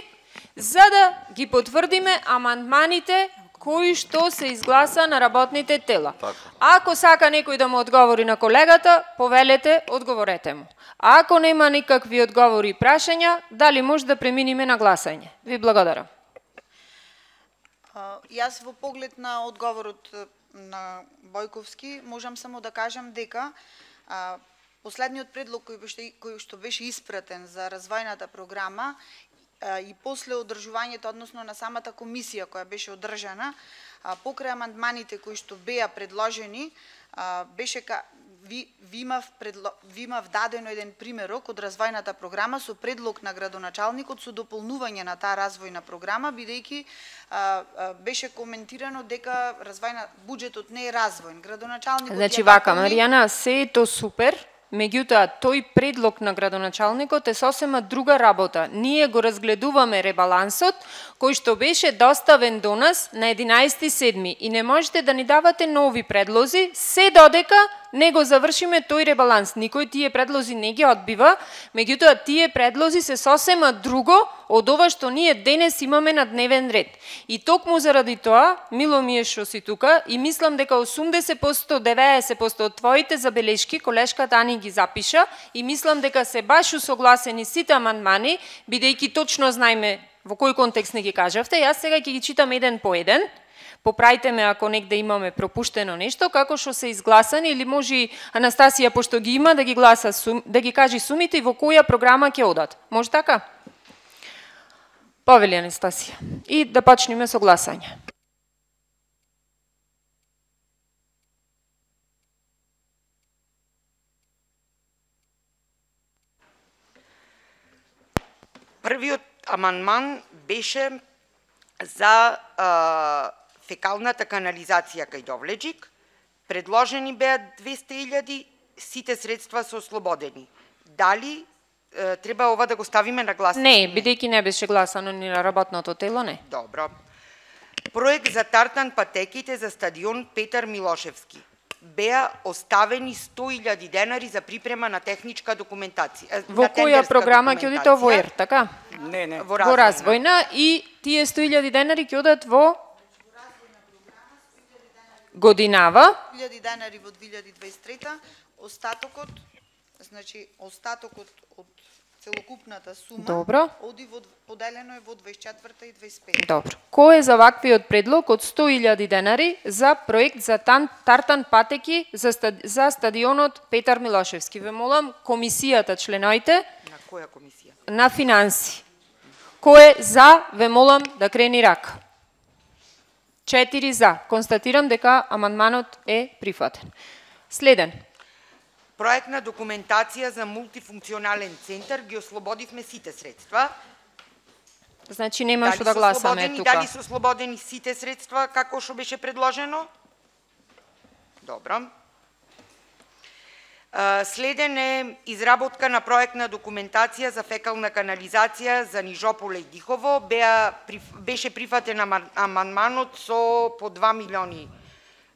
за да ги потврдиме амандманите кои што се изгласа на работните тела. Така. Ако сака некој да му одговори на колегата, повелете, одговорете му. А ако нема никакви одговори и прашања, дали може да преминиме на гласање? Ви благодарам. а, јас во поглед на одговорот е, на Бојковски можам само да кажам дека а, последниот предлог кој беше кој што беше испратен за развојната програма и после одржувањето, односно на самата комисија која беше одржана, покрај амандманите кои што беа предложени, беше ка, ви, ви, имав предло, ви имав дадено еден примерок од развојната програма со предлог на градоначалникот со дополнување на таа развојна програма, бидејќи беше коментирано дека развојна буџетот не е развојн. Градоначалникот Значи вака, Маријана, се е то супер. Меѓутоа, тој предлог на градоначалникот е сосема друга работа. Ние го разгледуваме ребалансот, кој што беше доставен до нас на единаесети седми и не можете да ни давате нови предлози, се додека не го завршиме тој ребаланс. Никој тие предлози не ги одбива, меѓутоа тие предлози се сосема друго од ова што ние денес имаме на дневен ред. И токму заради тоа, мило ми е што си тука и мислам дека осумдесет проценти, деветдесет проценти од твоите забелешки колешката Ани ги запиша и мислам дека се баш усогласени сите амандмани, бидејќи точно знаеме во кој контекст не ги кажавте. Јас сега ќе ги читам еден по еден. Поправите ме ако негде имаме пропуштено нешто, како што се изгласани, или може Анастасија, пошто ги има, да ги гласа, да ги кажи сумите и во која програма ќе одат. Може така? Повели Анастасија. И да почнеме со гласање. Првиот амандман беше за а, фекалната канализација кај Довлеџик. Предложени беа двесте илјади, сите средства се ослободени. Дали е, треба ова да го ставиме на гласање? Не, бидејќи не беше гласано ни на работното тело, не. Добро. Проект за тартан патеките за стадион Петар Милошевски. Беа оставени сто илјади денари за припрема на техничка документација. Во која програма ќе одите во ЕР, така? Не, не. Во Во развојна и тие сто илјади денари ќе одат во годинава. илјади денари во две илјади дваесет и трета, остатокот, значи остатокот од целокупната сума Добро. оди во поделено е во дваесет и четврта и дваесет и пета. Добро. Кој е за ваквиот предлог од сто илјади денари за проект за тан, тартан патеки за, стад, за стадионот Петар Милошевски? Ве молам, комисијата, членоите На која комисија? на финанси. Кој е за, ве молам да крени рака. Четири за. Констатирам дека амандманот е прифатен. Следен. Проектна документација за мултифункционален центар, ги ослободивме сите средства. Значи нема што Дали да се гласаме слободени- тука. Дали се слободени сите средства како што беше предложено? Добро. А, Следен е изработка на проектна документација за фекална канализација за Нижополе и Дихово. Беа, приф- беше прифатен ама- амандманот со по два милиони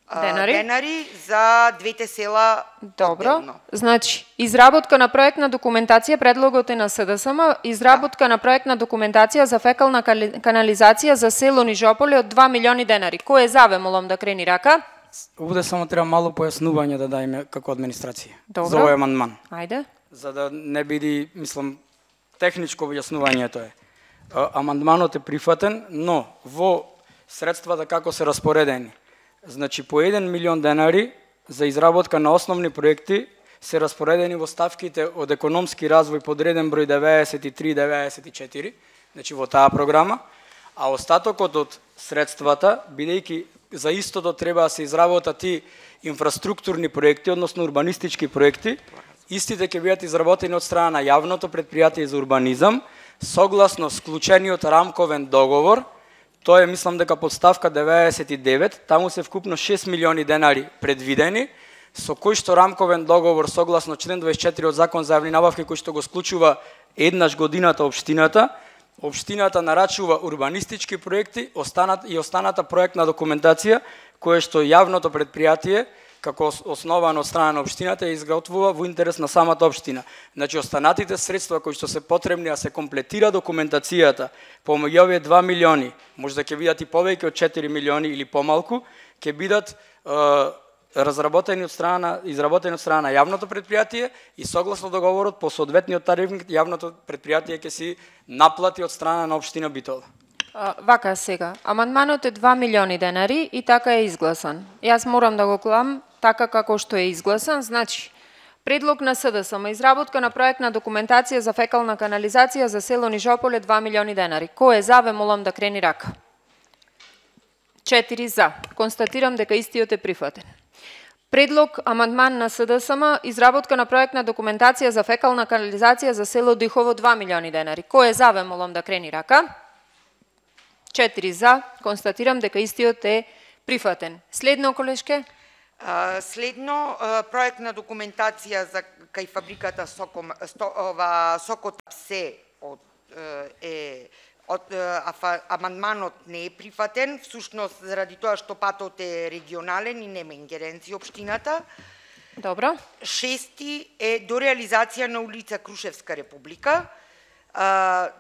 а, Денари. денари за двете села Добро. одделно. Значи, изработка на проектна документација, предлогот е на СДСМ, изработка на проектна документација за фекална кали- канализација за село Нижополе од два милиони денари. Кој е за, ве молам да крени рака? Овде само треба мало појаснување да дајме како администрација Добро. за овој амандман, Ајде. за да не биде, мислам, техничко објаснувањето е. А, Амандманот е прифатен, но во средствата како се распоредени, значи по еден милион денари за изработка на основни проекти се распоредени во ставките од економски развој подреден број деветдесет и три и деветдесет и четири, значи во таа програма, а остатокот од средствата, бидејќи за истото треба да се изработат и инфраструктурни проекти, односно урбанистички проекти, истите ќе бидат изработени од страна на јавното претпријатие за урбанизам, согласно склучениот рамковен договор. Тоа е, мислам дека под ставка деветдесет и девет, таму се вкупно шест милиони денари предвидени, со кој што рамковен договор согласно член дваесет и четири од Закон за јавни набавки, кој што го склучува еднаш годината општината, општината нарачува урбанистички проекти, останат и останата проектна документација која што јавното претпријатие како основано од страна на општината ја изготвува во интерес на самата општина. Значи останатите средства кои што се потребни да се комплетира документацијата помеѓу овие два милиони, може да ќе бидат и повеќе од четири милиони или помалку, ќе бидат е, разработени од страна на изработени од страна на јавното претпријатие и согласно договорот по соодветниот тарифник јавното претпријатие ќе си наплати од страна на општина Битола. А, вака сега, амандманот е два милиони денари и така е изгласан. Јас морам да го гледам така како што е изгласан, значи предлог на СДСМ, изработка на проектна документација за фекална канализација за село Нижополе два милиони денари. Кој е за, ве молам да крени рака. Четири за. Констатирам дека истиот е прифатен. Предлог амандман на СДСМ, изработка на проектна документација за фекална канализација за село Дихово два милиони денари. Кој е за, ве молам да крени рака. Четири за. Констатирам дека истиот е прифатен. Следно, колешке? А, Следно, а, проектна документација за кај фабриката Соком, сто, ова, Сокотапсе од, е од афа, амандманот не е прифатен, всушност заради тоа што патот е регионален и нема ингеренција општината. Добро. Шести е до реализација на улица Крушевска Република. А,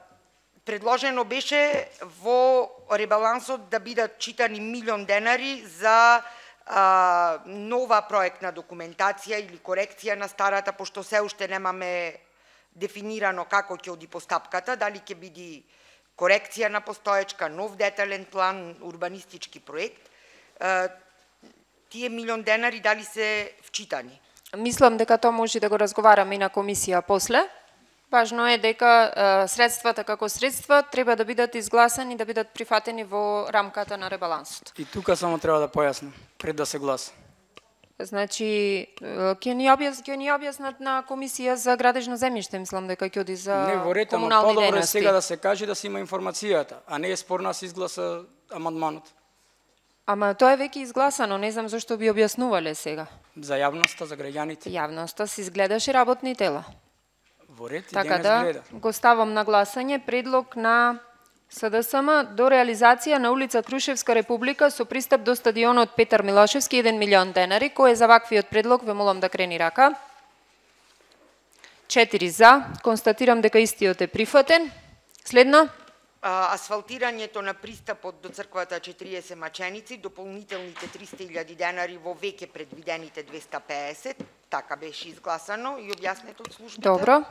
предложено беше во ребалансот да бидат читани милион денари за а, нова проектна документација или корекција на старата, пошто се уште немаме дефинирано како ќе оди постапката, дали ќе биде корекција на постоечка, нов детален план, урбанистички проект. А, тие милион денари дали се вчитани? Мислам дека тоа може да го разговараме и на комисија после. Важно е дека е, средствата како средства треба да бидат изгласани, да бидат прифатени во рамката на ребалансот. И тука само треба да појаснам пред да се гласа. Значи, ќе ни објас, ќе ни објаснат на комисија за градежно земјиште, мислам дека ќе оди за Не, во ред, ама комунални подобро е дејности. сега да се каже да се има информацијата, а не е спорно да се изгласа амандманот. Ама тоа е веќе изгласано, не знам зашто би објаснувале сега. За јавноста, за граѓаните. Јавноста се изгледаше работни тела. Во ред, и Така денес да, гледа. го ставам на гласање предлог на СДСМ до реализација на улица Крушевска Република со пристап до стадионот Петар Милошевски еден милион денари. Кој е за ваквиот предлог, ве молам да крени рака. Четири за. Констатирам дека истиот е прифатен. Следно. А, асфалтирањето на пристапот до црквата четириесет маченици, дополнителните триста илјади денари во веќе предвидените двеста пеесет, така беше изгласано и објаснето од службата. Добро.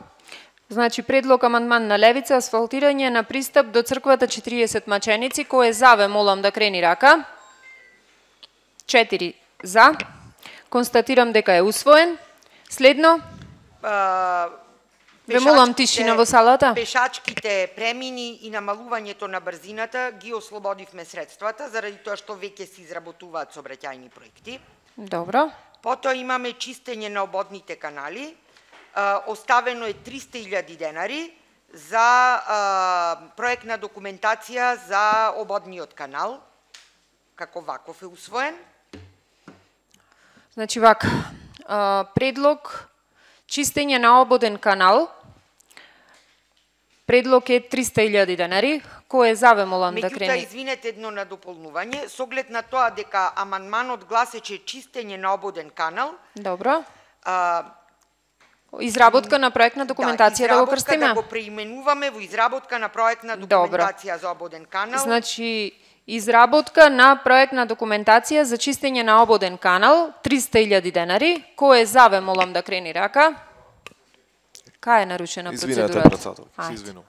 Значи, предлог амандман на Левица, асфалтирање на пристап до црквата четириесет маченици. Кој е за, ве молам да крени рака. Четири за. Констатирам дека е усвоен. Следно. А, Ве молам тишина во салата. Пешачките премини и намалувањето на брзината ги ослободивме средствата, заради тоа што веќе се изработуваат сообраќајни проекти. Добро. Потоа имаме чистење на ободните канали. А, оставено е триста илјади денари за а, проектна документација за ободниот канал, како ваков е усвоен. Значи вака, предлог чистење на ободен канал, предлог е триста илјади денари, кој е за, ве молам да крени. Меѓутоа, извинете едно на дополнување, с оглед на тоа дека амандманот гласече чистење на ободен канал. Добро. А, изработка на проектна документација да, да го крстиме. Да го преименуваме во изработка на проектна документација Добро. За ободен канал. Значи, изработка на проектна документација за чистење на ободен канал, триста илјади денари. Кој е за, ве молам да крени рака? Кај е нарушена процедурата? Извинете, председател, се извинувам.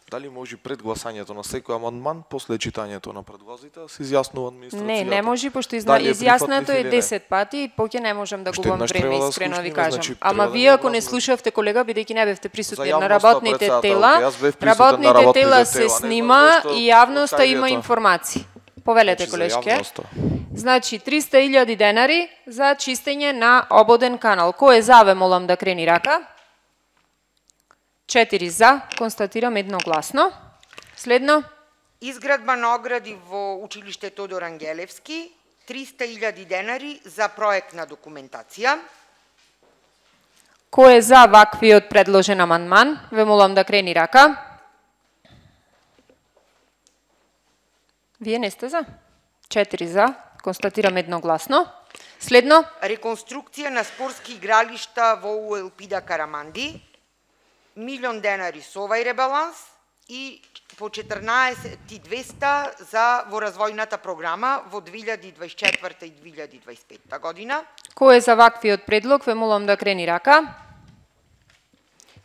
Дали може пред гласањето на секој амандман, после читањето на предлозите, се изјаснува администрацијата? Не, не може, пошто изна... изјаснето е десет пати и поќе не можам да губам време, искрено ви кажам. Значи, Ама вие ако не слушавте, колега, бидејќи не бевте присутни на работните тела, работните тела се снима и јавноста има информации. Повелете, колешке. Значи, триста илјади денари за чистење на ободен канал. Кој е за, ве молам да крени рака? Четири за, констатирам едногласно. Следно. Изградба на огради во училиште Тодор Ангелевски, триста илјади денари за проектна документација. Кој е за ваквиот предложен амандман? Ве молам да крени рака. Вие не сте за? Четири за, констатирам едногласно. Следно. Реконструкција на спортски игралишта во УЕЛПИДА Караманди, милион денари со овај ребаланс и по четрнаесет и двеста за во развојната програма во две илјади дваесет и четврта и две илјади дваесет и петта година. Кој е за ваквиот предлог? Ве молам да крени рака.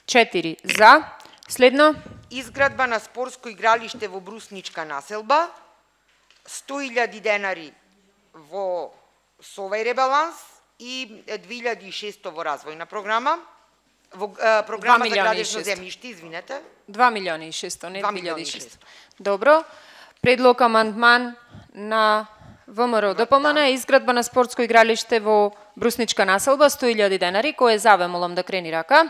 Четири за. Следно. Изградба на спортско игралиште во Брусничка населба, сто илјади денари во со овај ребаланс и две илјади и шеста во развојна програма. Во а, програма за градежно земјиште, извинете. два милиони и шеста, не две илјади и шеста. Добро. Предлог амандман на ВМРО ДПМН е изградба на спортско игралиште во Брусничка населба, сто илјади денари. Кој е за, ве молам да крени рака?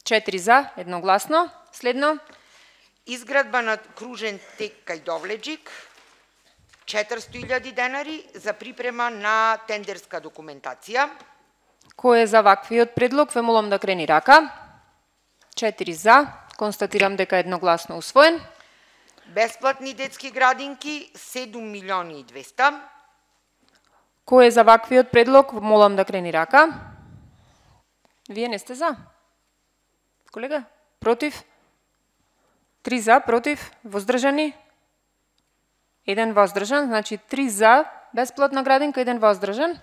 Четири за, едногласно. Следно. Изградба на кружен тек кај Довледжик, четиристо илјади денари за припрема на тендерска документација. Кој е за ваквиот предлог? Ве молам да крени рака. Четири за. Констатирам дека едногласно усвоен. Бесплатни детски градинки, седум милиони и двеста. Кој е за ваквиот предлог? Молам да крени рака. Вие не сте за? Колега? Против? Три за, против, воздржани? Еден воздржан, значи три за, бесплатна градинка, еден воздржан.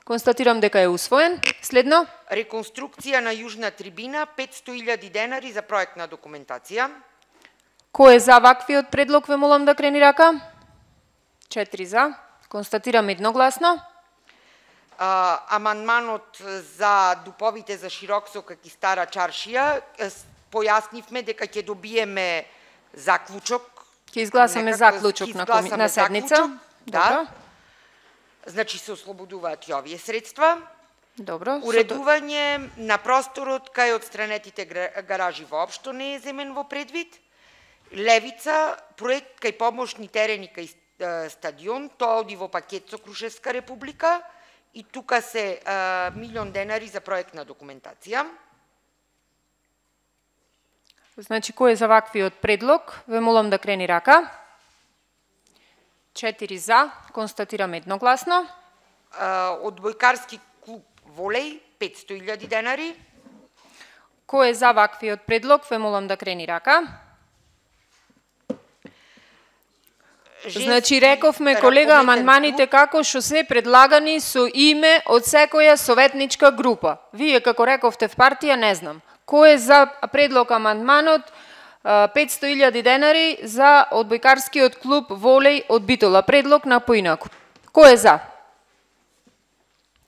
Констатирам дека е усвоен. Следно. Реконструкција на јужна трибина, петсто илјади денари за проектна документација. Кој е за ваквиот предлог? Ве молам да крени рака. Четири за. Констатирам едногласно. А, амандманот за дуповите за Широксокак и Стара Чаршија, појаснивме дека ќе добиеме заклучок. Ќе изгласаме заклучок на, коми... на седница. Заклучок, да. Значи се ослободуваат и овие средства. Добро. Уредување на просторот кај одстранетите гаражи воопшто не е земен во предвид. Левица, проект кај помошни терени кај стадион, тоа оди во пакет со Крушевска република и тука се а, милион денари за проектна документација. Значи, кој е за ваквиот предлог? Ве молам да крени рака. Четири за, констатирам едногласно. Одбојкарски клуб волеј, петсто илјади денари. Кој е за ваквиот предлог? Ве молам да крени рака. Женски... Значи, рековме, колега, амандманите како што се предлагани со име од секоја советничка група. Вие, како рековте в партија, не знам. Кој е за предлог амандманот петсто илјади денари за одбојкарскиот клуб волеј од Битола? Предлог на поинаку. Кој е за?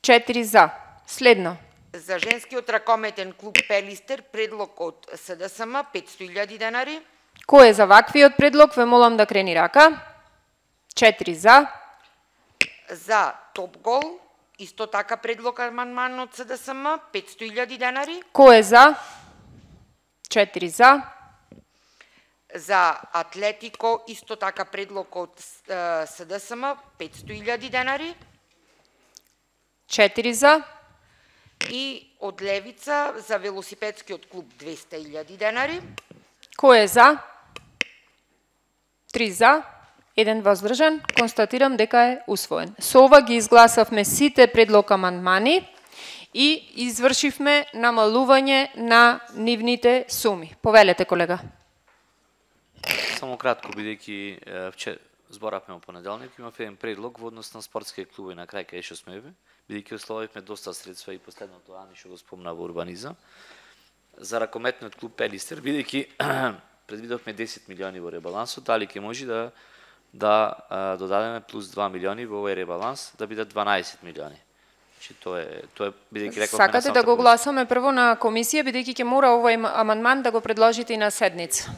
Четири за. Следно. За женскиот ракометен клуб Пелистер, предлог од СДСМ, петсто илјади денари. Кој е за ваквиот предлог? Ве молам да крени рака. Четири за. За Топ Гол, исто така предлог амандман од СДСМ, петсто илјади денари. Кој е за? Четири за. за Атлетико, исто така предлог од С Д С М, петсто илјади денари. четири за. И од Левица за велосипедскиот клуб двесте илјади денари. Кој е за? три за, еден воздржан. Констатирам дека е усвоен. Со ова ги изгласавме сите предлог амандмани и извршивме намалување на нивните суми. Повелете, колега. Само кратко, бидејќи вчера зборавме во понеделник, имав еден предлог во однос на спортски клубови на крај кај што сме, бидејќи ословивме доста средства и последното Ани што го спомна во урбанизам. За ракометниот клуб Пелистер, бидејќи предвидовме десет милиони во ребалансот, дали ќе може да да а, додадеме плюс два милиони во овој ребаланс, да бидат дванаесет милиони. Значи тоа е тоа е бидејќи рековме. Сакате да го гласаме прво на комисија, бидејќи ќе мора овој амандман да го предложите и на седница.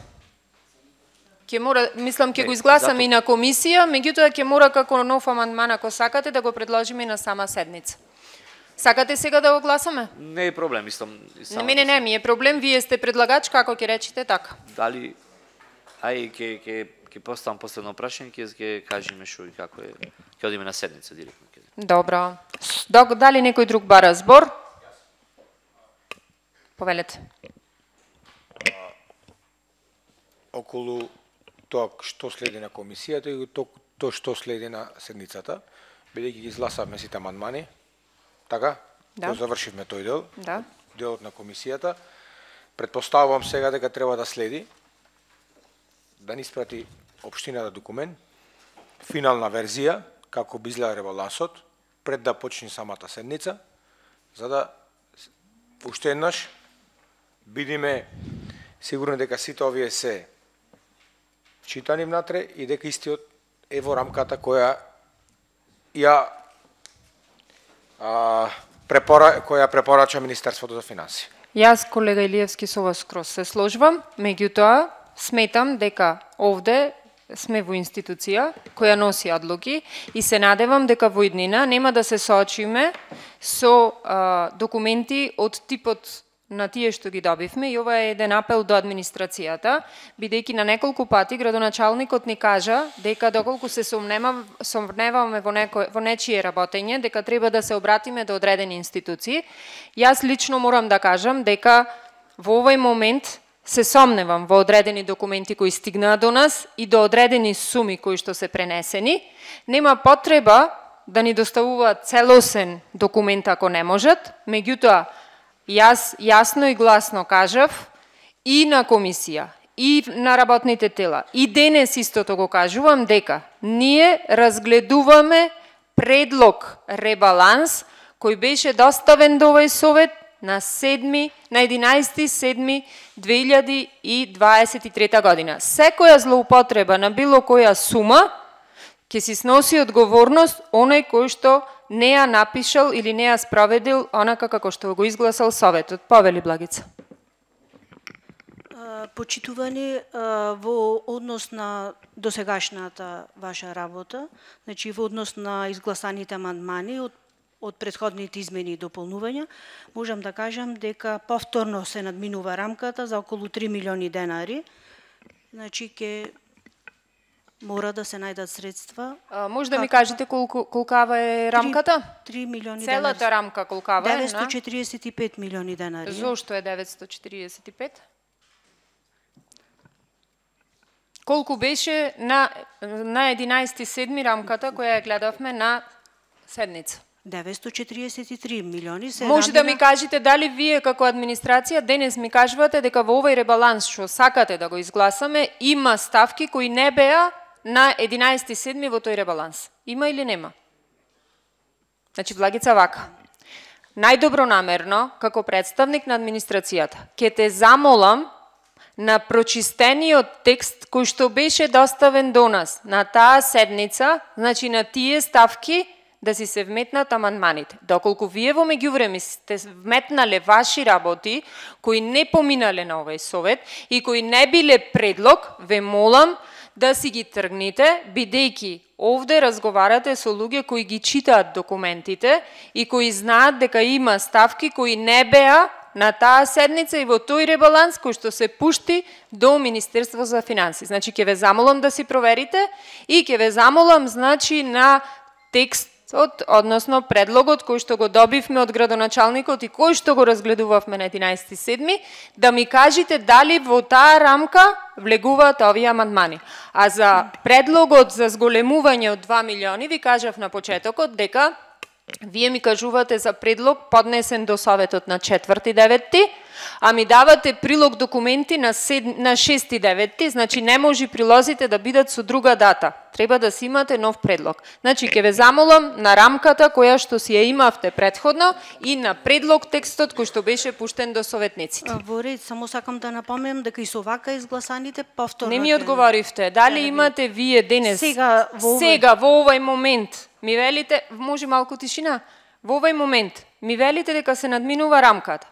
Ќе мора, мислам, ќе го изгласаме и на комисија, меѓутоа ќе мора како нов амандман, ако сакате, да го предложиме и на сама седница. Сакате сега да го гласаме? Не е проблем, мислам. Не, мене не ми е проблем, вие сте предлагач, како ќе речете така. Дали, ај, ќе ќе ќе поставам последно прашање, ќе ќе кажеме што и како е, ќе одиме на седница директно. Добро. Дали некој друг бара збор? Повелете. Околу тоа што следи на комисијата и тоа што следи на седницата, бидејќи ги изгласавме сите амандмани, така? Да. Завршивме тој дел, да. Делот на комисијата. Предпоставувам сега дека треба да следи, да ни испрати општината документ, финална верзија, како би изгледа ребалансот, пред да почне самата седница, за да уште еднаш бидиме сигурни дека сите овие се читани внатре и дека истиот е во рамката која ја а, препора, која препорача Министерството за финансии. Јас, колега Илиевски, со вас скроз се сложувам, меѓутоа сметам дека овде сме во институција која носи одлуки и се надевам дека во иднина нема да се соочиме со а, документи од типот на тие што ги добивме, и ова е еден апел до администрацијата, бидејќи на неколку пати градоначалникот ни кажа дека доколку се сомневаме во некој во нечие работење, дека треба да се обратиме до одредени институции. Јас лично морам да кажам дека во овој момент се сомневам во одредени документи кои стигнаа до нас и до одредени суми кои што се пренесени. Нема потреба да ни доставуваат целосен документ ако не можат, меѓутоа јас јасно и гласно кажав и на комисија, и на работните тела, и денес истото го кажувам дека ние разгледуваме предлог ребаланс кој беше доставен до овој совет на седми, на единаесети седми две илјади и дваесет и трета година. Секоја злоупотреба на било која сума ќе си сноси одговорност оној кој што не ја напишал или не ја спроведил онака како што го изгласал советот. Повели Благица. Почитувани во однос на досегашната ваша работа, значи во однос на изгласаните амандмани од од претходните измени и дополнувања, можам да кажам дека повторно се надминува рамката за околу три милиони денари. Значи ќе мора да се најдат средства. А, може да ми кажете колку колкава е рамката? три милиони денари. Целата рамка колкава е? деветсто четириесет и пет милиони денари. Зошто е деветсто четириесет и пет? Колку беше на на единаесети седми рамката која ја гледавме на седница? деветсто четириесет и три милиони се Може да ми кажете дали вие како администрација денес ми кажувате дека во овој ребаланс што сакате да го изгласаме има ставки кои не беа на единаесети седми во тој ребаланс. Има или нема? Значи Благица вака. Најдобронамерно како представник на администрацијата ќе те замолам на прочистениот текст кој што беше доставен до нас на таа седница, значи на тие ставки да си се вметнат амандманите. Доколку вие во меѓувреме сте вметнале ваши работи кои не поминале на овој совет и кои не биле предлог, ве молам да си ги тргните, бидејќи овде разговарате со луѓе кои ги читаат документите и кои знаат дека има ставки кои не беа на таа седница и во тој ребаланс кој што се пушти до Министерство за финансии. Значи ќе ве замолам да си проверите и ќе ве замолам значи на текстот, односно предлогот кој што го добивме од градоначалникот и кој што го разгледувавме на единаесети седми, да ми кажете дали во таа рамка влегуваат овие амандмани. А за предлогот за зголемување од два милиони ви кажав на почетокот дека вие ми кажувате за предлог поднесен до Советот на четврти деветти, а ми давате прилог документи на, сед... на шести деветти, значи не може прилозите да бидат со друга дата. Треба да си имате нов предлог. Значи ќе ве замолам на рамката која што си ја имавте претходно и на предлог текстот кој што беше пуштен до советниците. Во ред, само сакам да напомнам дека и со вака изгласаните повторно. Не ми одговоривте. Дали имате вие денес сега во овој, сега во овој момент ми велите, може малку тишина, во овој момент ми велите дека се надминува рамката.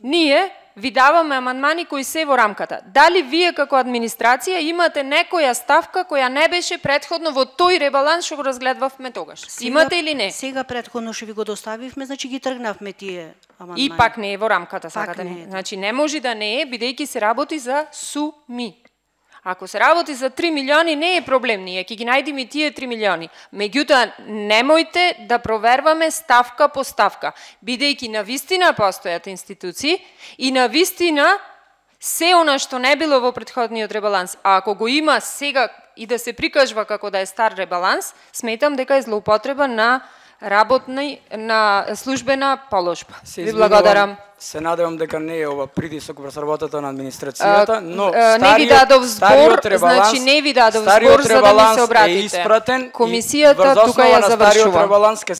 Ние ви даваме амандмани кои се во рамката. Дали вие како администрација имате некоја ставка која не беше претходно во тој ребаланс што го разгледавме тогаш? сега, Имате или не? Сега претходно што ви го доставивме, значи ги тргнавме тие амандмани. И пак не е во рамката, Пак сакате не не. е. Значи не може да не е, бидејќи се работи за суми. Ако се работи за три милиони, не е проблем, ние ќе ги најдеме тие три милиони. Меѓутоа, немојте да проверваме ставка по ставка, бидејќи на вистина постојат институции и на вистина се она што не било во претходниот ребаланс, а ако го има сега и да се прикажва како да е стар ребаланс, сметам дека е злоупотреба на работна на службена положба. Се Ви извинувам, благодарам. Се надевам дека не е ова притисок врз работата на администрацијата, но А, не ви стариот, дадов збор, стариот ребаланс, значи не ви дадов стариот збор за да ми ребаланс се обратите. е испратен и Комисијата врз тука основа ја на стариот завршува. ребаланс ќе